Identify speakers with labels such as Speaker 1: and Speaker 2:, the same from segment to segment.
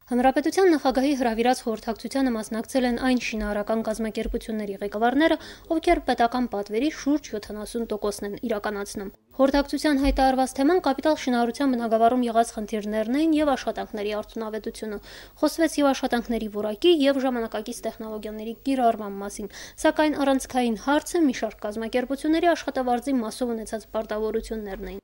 Speaker 1: Հանրապետության նախագահի հրավիրած խորհրդակցությանը մասնակցել են այն շինարարական կազմակերպությունների ղեկավարները, ովքեր պետական պատվերի շուրջ 70%-ն են իրականացնում։ Խորհրդակցության հայտարարված թեման կապիտալ շինարարության բնագավառում եղած խնդիրներն էին եւ աշխատանքների արդյունավետությունը։ Խոսվեց եւ աշխատանքների որակի եւ ժամանակակից տեխնոլոգիաների կիրառման մասին, սակայն առանցքային հարցը մի շարք կազմակերպությունների աշխատավարձի մասով ունեցած պարտավորություններն էին։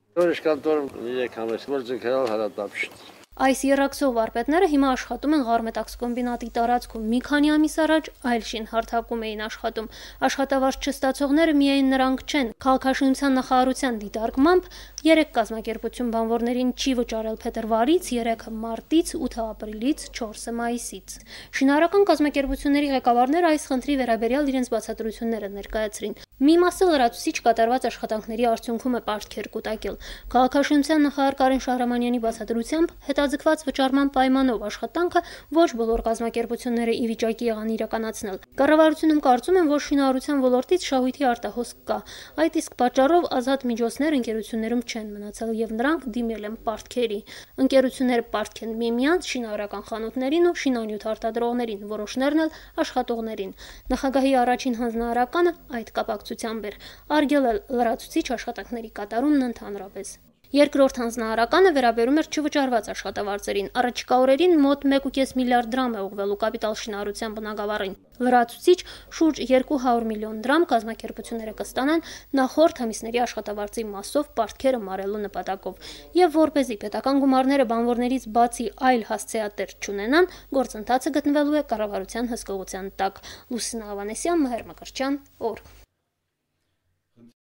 Speaker 1: Այս երակսող վարպետները հիմա աշխատում են Ղարմետաքս կոմբինատի տարածքում, մի քանի ամիս առաջ այլ շինհարթակում էին աշխատում։ Աշխատավարձ չստացողները միայն նրանք չեն։ Քաղաքաշինության նախարարության դիտարկմամբ 3 կազմակերպություն բանվորներին չի վճարել փետրվարից, 3-ը մարտից, 8-ը ապրիլից, 4-ը մայիսից։ Շինարարական կազմակերպությունների ղեկավարները այս խնդրի վերաբերյալ իրենց բացատրությունները ներկայացրին։ Մի մասը լրացուցիչ կատարված աշխատանքների արդյունքում է պարտքեր կուտակել։ Քաղաքաշինության նախարար Կարեն Շահրամանյանի բացատրությամբ հետաձգված վճարման պայմանով աշխատանքը ոչ բոլոր կազմակերպությունները ի վիճակի եղան իրականացնել։ Կառավարությունում կարծում են, որ շինարարության ոլորտից շահույթի արտահոսք կա։ Այդ իսկ պատճառով ազատ միջոցներ ընկերություններում չեն մնացել եւ նրանք դիմել են պարտքերի։ Ընկերությունները պարտք են միմյանց, շինարարական խանութներին ու շինանյութ արտադրողներին, որոշներն էլ աշխատողներին։ Նախագահի առաջին հանձնարարականը այդ կապակցությամբ էր արգելել լրացուցիչ աշխատանքների կատարումն ընդհանրապես։ Երկրորդ հանձնարարականը վերաբերում էր չվճարված աշխատավարձերին։ Առաջիկա օրերին մոտ 1.5 միլիարդ դրամ է ուղղվելու կապիտալ շինարարության բնագավառին։ Լրացուցիչ շուրջ 200 միլիոն դրամ կազմակերպությունները կստանան նախորդ ամիսների աշխատավարձի մասով պարտքերը մարելու նպատակով։ Եվ որպեսզի պետական գումարները բանվորներից բացի այլ հասցեատեր չունենան, գործընթացը գտնվելու է կառավարության հսկողության տակ։ Լուսինա Ավանեսյան, Մհեր Մկրտչյան, օր։